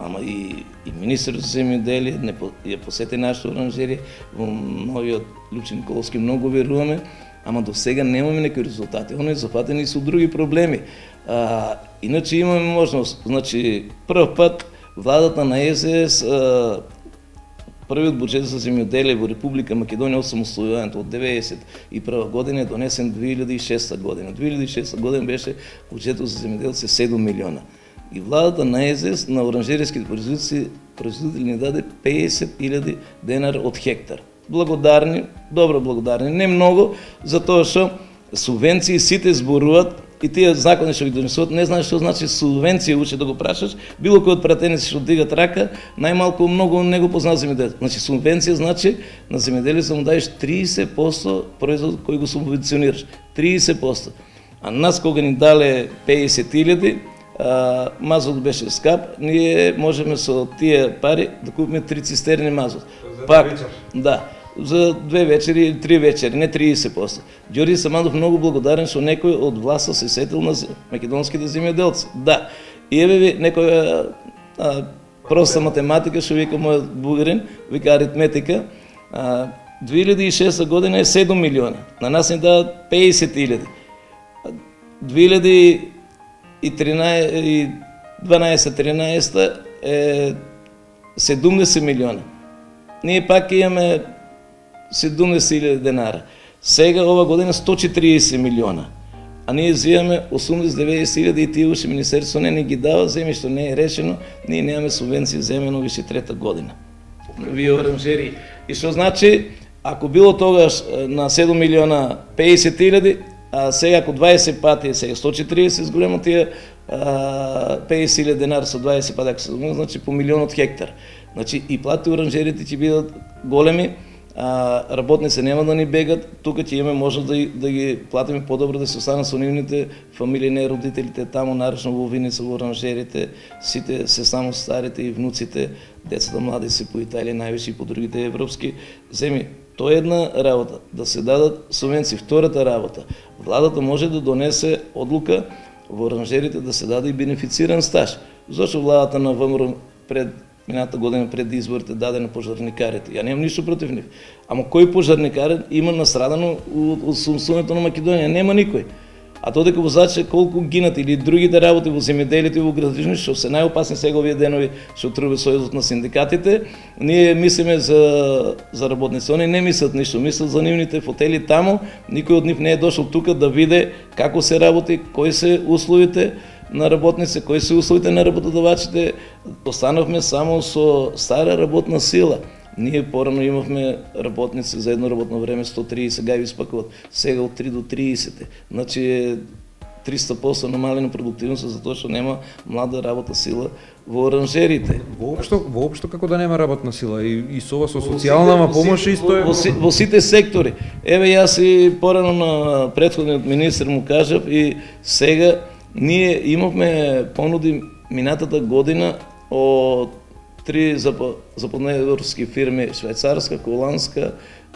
Ама и, и министерот за земјоделие не по, ја посети нашата оранжерија, во новиот Лјупче Николовски многу веруваме, ама до сега немаме некои резултати. Оно е зафатени со други проблеми. А, иначе имаме можност. Значи, прв пат владата на Е Се Ес, а, првиот буџет за земјоделие во Република Македонија од самостојувањето од деветдесет и прва година е донесен две илјади и шеста година. две илјади и шеста година беше буџетот за земјоделци седум милиона. И владата на Е Се Ес на оранжеријските производители, производители ни даде песет илјади денар од хектар. Благодарни, добро благодарни, не многу, затоа што субвенции сите зборуваат и тие закони што ги донесуват, не знаеш што значи субвенција, уче да го прашаш, било кој од пратеници што дигат рака, најмалку многу не го познава земјоделец. Значи субвенција значи на земјоделецот му даеш тридесет проценти производ кој го субвенционираш, тридесет проценти. А нас кога ни дале песет илјади, мазот беше скап, ние можеме со тие пари да купиме три цистерни мазот. Пак, да, за две вечери или три вечери, не тридесет проценти. Ѓорѓе Самандов многу благодарен што некој од власта се сетил на македонските земјоделци. Да, и еве ви некоја а, проста математика што вика мојот бугарин, вика аритметика. А, две илјади и шеста година е седум милиона, на нас ни дадат песет илјади. две илјади и дванаесет-тринаесет е седумдесет милиона. Ние пак имаме седумдесет илјади денара. Сега ова година сто и четириесет милиона. А ние взимаме осумдесет-деветдесет илјади и тие уши министерство не ни ги дава, земјишто не е решено, ние немаме субвенции земјено више трета година. Вие оранжери. И што значи, ако било тогаш на седум милиона песет илјади, а сега ако дваесет пати, сега сто и четириесет зголемо тие песет илјади денар со дваесет пати, ако се зголемо, значи по милион од хектар. Значи и плати оранжерите ќе бидат големи, а, работници нема да ни бегат, тука ќе имаме можност да, да ги платиме подобро, да се останат со нивните фамилии, не родителите таму, наречно во Виница, во оранжерите, сите се само старите и внуците, децата млади се по Италија, највише и по другите европски земји. Тоа е една работа, да се дадат субвенции. Втората работа, владата може да донесе одлука во оранжерите да се даде и бенефициран стаж. Зошто владата на ВМРО пред мината година пред изборите даде на пожарникарите? Ја немам ништо против нив. Ама кој пожарникар има настрадано од сумсуването на Македонија? Нема никој. А тоа дека возачи колку гинат или другите работи во земјоделието и во градежништво, што се најопасни сега овие денови што трубе сојузот на синдикатите, ние мислиме за за работници. Они не мислат ништо, мислат за нивните фотели таму, никој од нив не е дошол тука да види како се работи, кои се условите на работници, кои се условите на работодавачите. Останавме само со стара работна сила. Ние порано имавме работници за едно работно време сто триесет, сега ги испакуват, сега од три до триесет. Значи е триста проценти намалена продуктивност затоа што нема млада работна сила во оранжерите. Воопшто, воопшто како да нема работна сила и, и со ова со социјална помош исто е во, во, во сите сектори. Еве јас и порано на претходниот министер му кажав и сега ние имавме понуди минатата година од три западноевропски фирми, швајцарска, холандска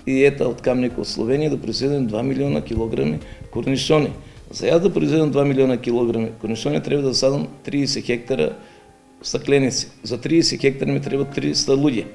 и ета од Камник од Словенија, да произведем два милиона килограми корнишони. За јас да произведем два милиона килограми корнишони треба да садам триесет хектара стакленици. За триесет хектара ми треба триста луѓе.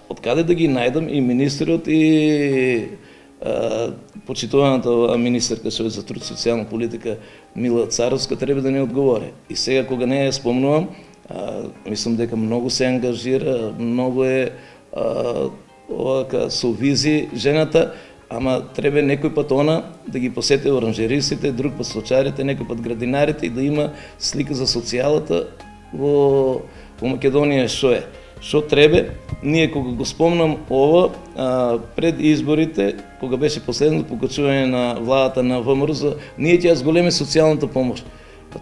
Од каде да ги најдам? И министерот и а, почитуваната министерка што е за труд и социјална политика Мила Царовска треба да ни одговори. И сега кога не ја спомнувам, А, мислам дека многу се ангажира, многу е а, овака со визи жената, ама треба некој пат она да ги посети оранжеристите, друг пат сточарите, некој пат градинарите и да има слика за социјалата во, во Македонија што е. Што требе, ние кога го спомнам ова, а, пред изборите, кога беше последното покачување на владата на ВМРО, ние ќе ја зголеме социјалната помош.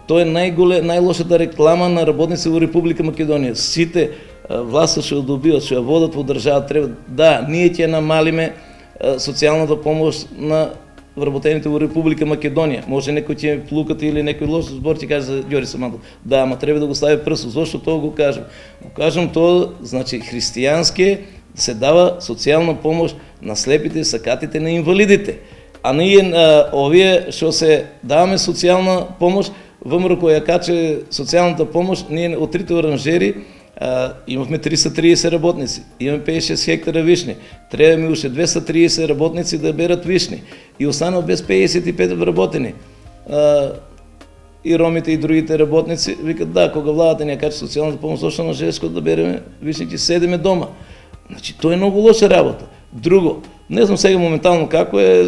Тоа е најголе, најлошата реклама на работници во Република Македонија. Сите власта што ја добиват, што ја водат во држава, треба да, ние ќе намалиме социјалната помош на вработените во Република Македонија. Може некој ќе плукате или некој лош збор ќе каже за Ѓори Самандов. Да, ама треба да го стави прсо. Зошто тоа го кажам? Го кажам тоа, значи христијански се дава социјална помош на слепите, сакатите, на инвалидите. А ние овие што се даваме социјална помош, ВМРО која каче социјалната помош, ние од трите оранжери а, имавме триста и триесет работници, имаме петдесет и шест хектара вишни, треба ми уште двеста и триесет работници да берат вишни и останал без педесет и пет вработени. А, и ромите и другите работници викат да, кога владата ни ја каче социјалната помош, зошто на Желешко да береме вишни, ќе седеме дома. Значи тоа е многу лоша работа. Друго, не знам сега моментално како е,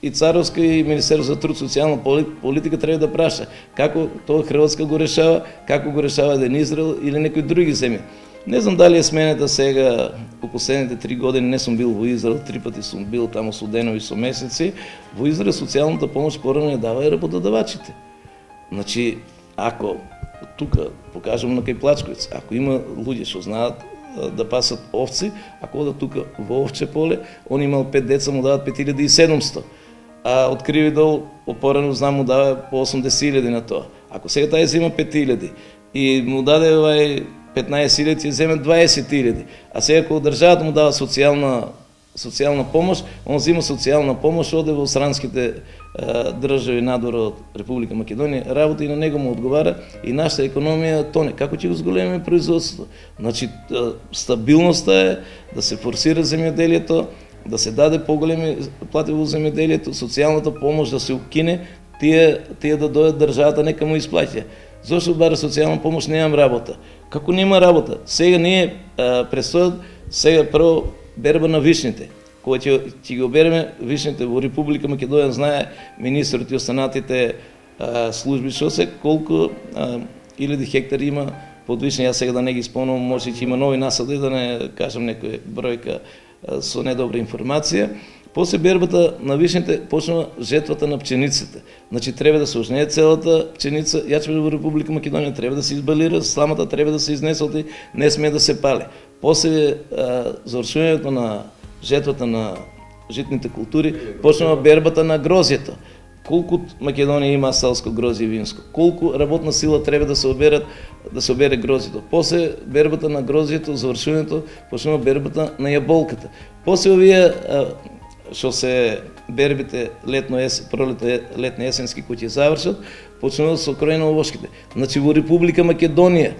и Царовска и Министерство за труд и социјална политика треба да праша како тоа Хрватска го решава, како го решава еден Израел или некои други земји. Не знам дали е сменета сега, по последните три години не сум бил во Израел, три пати сум бил таму со денови, со месеци. Во Израел социјалната помош порано ја дава и работодавачите. Значи, ако тука покажам на кај Плачковиц, ако има луѓе што знаат да пасат овци, ако одат тука во овче поле, он имал пет деца, му дават пет илјади и седумстотини. А од Кривидол опорано знам му дава по осумдесет илјади на тоа. Ако сега тај зема пет илјади и му даде овај петнаесет илјади, ќе земе дваесет илјади. А сега кога државата му дава социјална социјална помош, он зема социјална помош, оде во странските е, држави надвор од Република Македонија, работа и на него му одговара и нашата економија тоне. Како ќе го зголемиме производството? Значи, стабилноста е да се форсира земјоделието, да се даде поголеми плати во земјоделието, социјалната помош да се укине, тие, тие да дојдат државата нека му исплаќа. Зошто бара социјална помош немам работа? Како нема работа? Сега ние предстојат сега прво берба на вишните. Кога ќе ќе ги обереме вишните во Република Македонија, знае министрот и останатите а, служби што се колку илјади хектари има под вишни. Јас сега да не ги спомнам, може ќе има нови насади, да не кажам некоја бројка со недобра информација. После бербата на вишните почнува жетвата на пченицата. Значи треба да се ожнее целата пченица, јачмето во Република Македонија треба да се избалира, сламата треба да се изнесе, не смее да се пале. После завршувањето на жетвата на житните култури почнува бербата на грозјето. Колку Македонија има селско грозје и винско, колку работна сила треба да се оберат да се обере грозјето. После бербата на грозјето, завршувањето, почнува бербата на јаболката. После овие што се бербите летно есен, пролетно летно есенски кои ќе завршат, почнува со крој на овошките. Значи во Република Македонија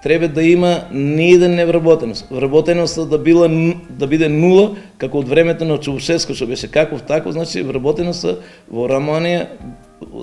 треба да има ниеден невработеност. Вработеноста да била да биде нула, како од времето на Чаушеско што беше каков таков, значи вработеноста во Романија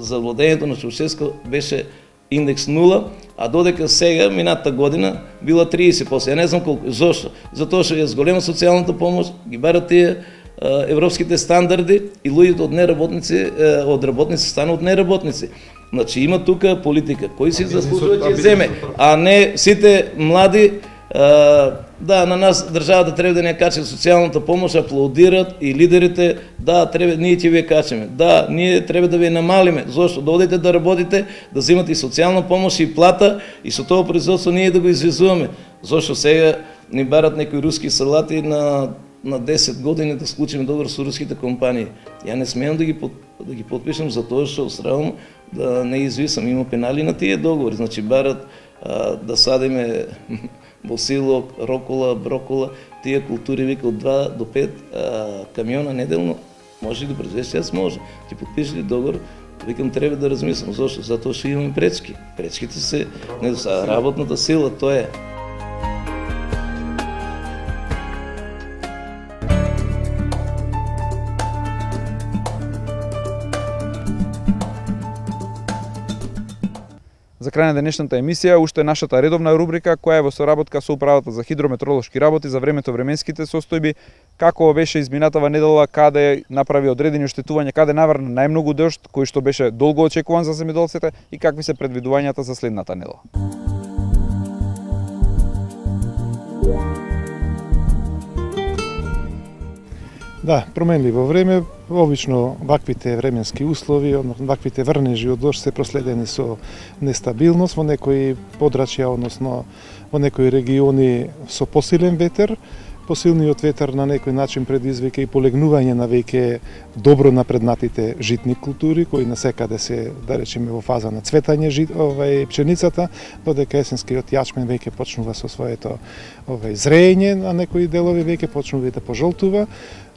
за владењето на Чаушеско беше индекс нула, а додека сега минатата година била триесет проценти. Ја не знам колку. Зошто? Затоа што ја зголема социјалната помош, ги барат тие европските стандарди и луѓето од неработници, од работници стануваат неработници. Значи има тука политика, кој си заслужува ќе земе, а не сите млади, а, да, на нас државата треба да ни ја каче социјалната помош, аплаудират и лидерите, да, треба, ние ќе ви ја качеме, да, ние треба да ви ја намалиме, зошто да одите да работите, да земате и социјална помош и плата и со тоа производство ние да го извезуваме, зошто сега ни барат некои руски салати на на десет години да склучиме договор со руските компании. Ја не смеам да ги под, да ги подпишам затоа што стравам да не извисам, има пенали на тие договори, значи барат а, да садиме босилок, рокола, брокола, тие култури вика од два до пет а, камиона неделно, може да произведеш, јас може. Ти подпишеш ли договор, викам треба да размислам, зашто? Затоа што имаме пречки. Пречките се не са работната сила, тоа е. За крај на денешната емисија, уште нашата редовна рубрика, која е во соработка со Управата за хидрометеоролошки работи за времето временските состојби, како беше изминатава недела, каде направи одредени оштетувања, каде наврна најмногу дожд, кој што беше долго очекуван за земјоделците и какви се предвидувањата за следната недела. Да, променливо време, обично ваквите временски услови, односно ваквите врнежи од дожд се проследени со нестабилност, во некои подрачја, односно во некои региони со посилен ветер. Посилниот ветер на некој начин предизвика и полегнување на веќе добро напреднатите житни култури, кои насекаде се, да речеме, во фаза на цветање жит, овај пченицата, додека есенскиот јачмен веќе почнува со своето овај зреење, на некои делови веќе почнува и да пожолтува,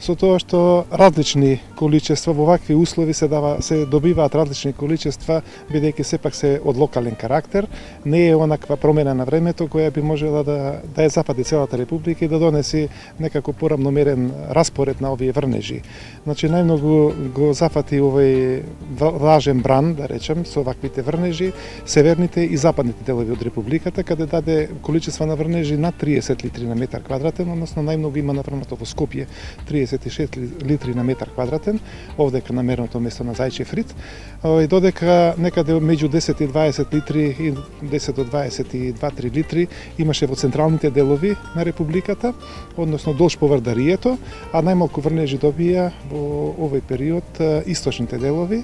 со тоа што различни количества во вакви услови се дава се добиваат различни количества, бидејќи сепак се од локален карактер, не е онаква промена на времето која би можела да да ја запади целата република и да донеси некако порамномерен распоред на овие врнежи. Значи најмногу го зафати овој влажен бран, да речем, со ваквите врнежи, северните и западните делови од републиката, каде даде количество на врнежи над триесет литри на метар квадратен, односно најмногу има наврнато во Скопје триесет и шест литри на метар квадратен, овдека на мерното место на Зајчев рид, и додека некаде меѓу десет и дваесет литри и десет до дваесет и два до три литри имаше во централните делови на републиката, односно долж по Вардарието, а најмалку врнежи добија во овој период источните делови,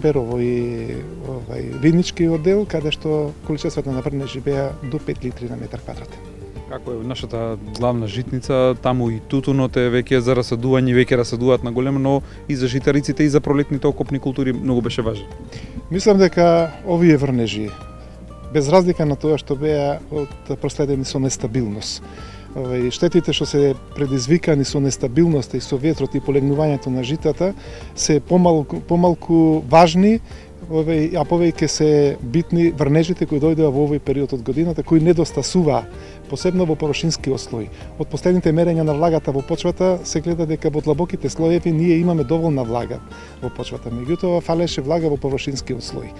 Берово и овај Винничкиот дел, каде што количествата на врнежи беа до пет литри на метар квадратен. Како е нашата главна житница, таму и тутунот е веќе за расадување, веќе расадуваат на големо, но и за житариците и за пролетните окопни култури многу беше важен. Мислам дека овие врнежи, без разлика на тоа што беа од проследени со нестабилност, штетите што се предизвикани со нестабилноста и со ветрот и полегнувањето на житата се помалку, помалку важни, а повеќе се битни врнежите кои дојдоа во овој период од годината, кои недостасуваа, посебно во површинскиот слој. Од последните мерења на влагата во почвата се гледа дека во длабоките слоеви ние имаме доволна влага во почвата, меѓутоа фалеше влага во површинскиот слој.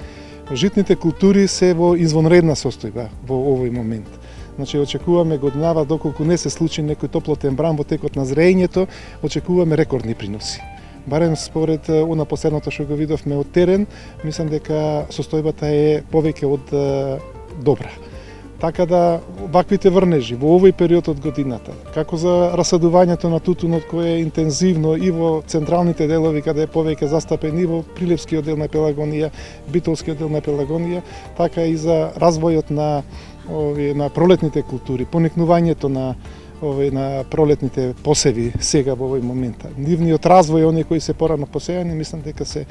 Житните култури се во извонредна состојба во овој момент. Значи, очекуваме годинава, доколку не се случи некој топлотен бран во текот на зреењето, очекуваме рекордни приноси. Барем според она последното што го видовме од терен, мислам дека состојбата е повеќе од добра. Така да, ваквите врнежи во овој период од годината, како за расадувањето на тутунот кој е интензивно и во централните делови каде е повеќе застапен и во Прилепскиот дел на Пелагонија, Битолскиот дел на Пелагонија, така и за развојот на овие на пролетните култури, поникнувањето на овие на пролетните посеви сега во овој момент. Нивниот развој, оние кои се порано посејани, мислам дека се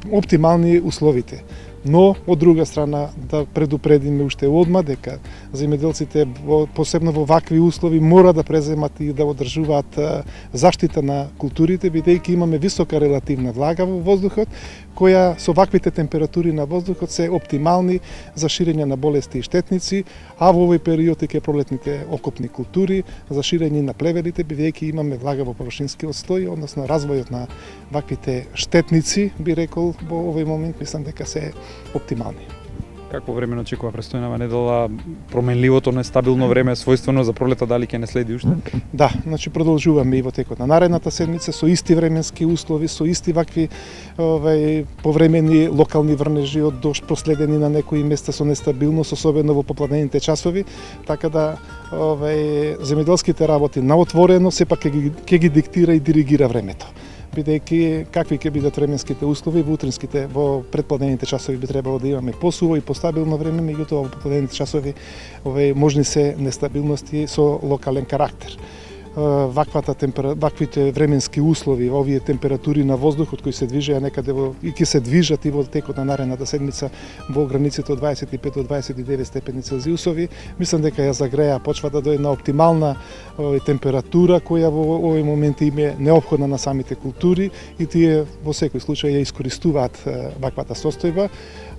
оптимални условите. Но, од друга страна, да предупредиме уште одма дека земјоделците, посебно во вакви услови, мора да преземат и да одржуваат заштита на културите, бидејќи имаме висока релативна влага во воздухот, која со ваквите температури на воздухот се оптимални за ширење на болести и штетници, а во овој период и ке пролетните окопни култури за ширење на плевелите, бидејќи имаме влага во површинскиот слој, односно развојот на ваквите штетници, би рекол, во овој момент мислам дека се оптимални. Какво време очекува престојнава недела? Променливото, нестабилно време, својствено за пролета, дали ќе не следи уште? Да, значи продолжуваме и во текот на наредната седмица со исти временски услови, со исти вакви овај повремени локални врнежи од дожд проследени на некои места со нестабилност, особено во попладнените часови, така да овај земјоделските работи на отворено сепак ќе ги, ќе ги диктира и диригира времето. Бидејќи какви ќе бидат временските услови во утринските, во предпладнените часови би требало да имаме посуво и постабилно време, меѓутоа во попладнените часови овај можни се нестабилности со локален карактер. Ваквата темпера... ваквите временски услови, овие температури на воздухот кои се движеа некаде во и ќе се движат и во текот на наредната седмица во границите од дваесет и пет до дваесет и девет степени Целзиусови, мислам дека ја загреа почвата до една оптимална овој температура која во овој момент им е неопходна на самите култури и тие во секој случај ја искористуваат ваквата состојба.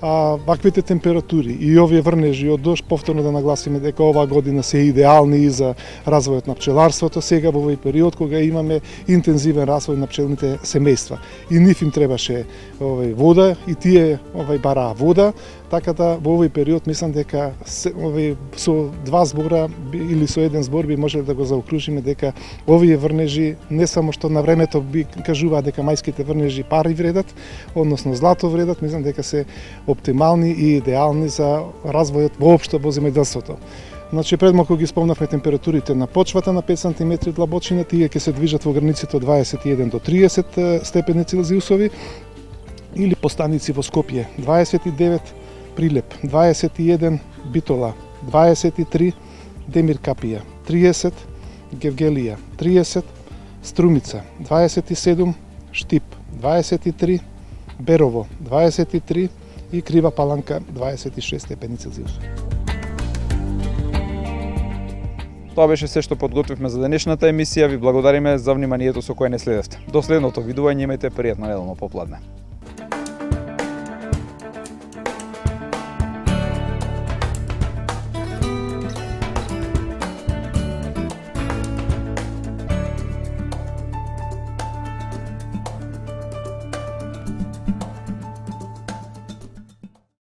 А ваквите температури и овие врнежи од дожд, повторно да нагласиме дека оваа година се идеални и за развојот на пчеларството, сега во овој период кога имаме интензивен развој на пчелните семејства. И нив им требаше овој вода и тие овој бараа вода, така да во овој период мислам дека овој со два збора или со еден збор би можеле да го заокружиме дека овие врнежи не само што на времето би кажуваат дека мајските врнежи пари вредат, односно злато вредат, мислам дека се оптимални и идеални за развојот воопшто во земјоделството. Значи пред малку ги спомнавме температурите на почвата на пет сантиметри длабочина, тие ќе се движат во границите од дваесет и еден до триесет степени Целзиусови, или по станици во Скопје дваесет и девет, Прилеп дваесет и еден, Битола дваесет и три, Демир Капија триесет, Гевгелија триесет, Струмица дваесет и седум, Штип дваесет и три, Берово дваесет и три и Крива Паланка дваесет и шест степени Целзиусови. Тоа беше се што подготвивме за денешната емисија. Ви благодариме за вниманието со кое не следевте. До следното видување, имајте пријатно неделно попладне.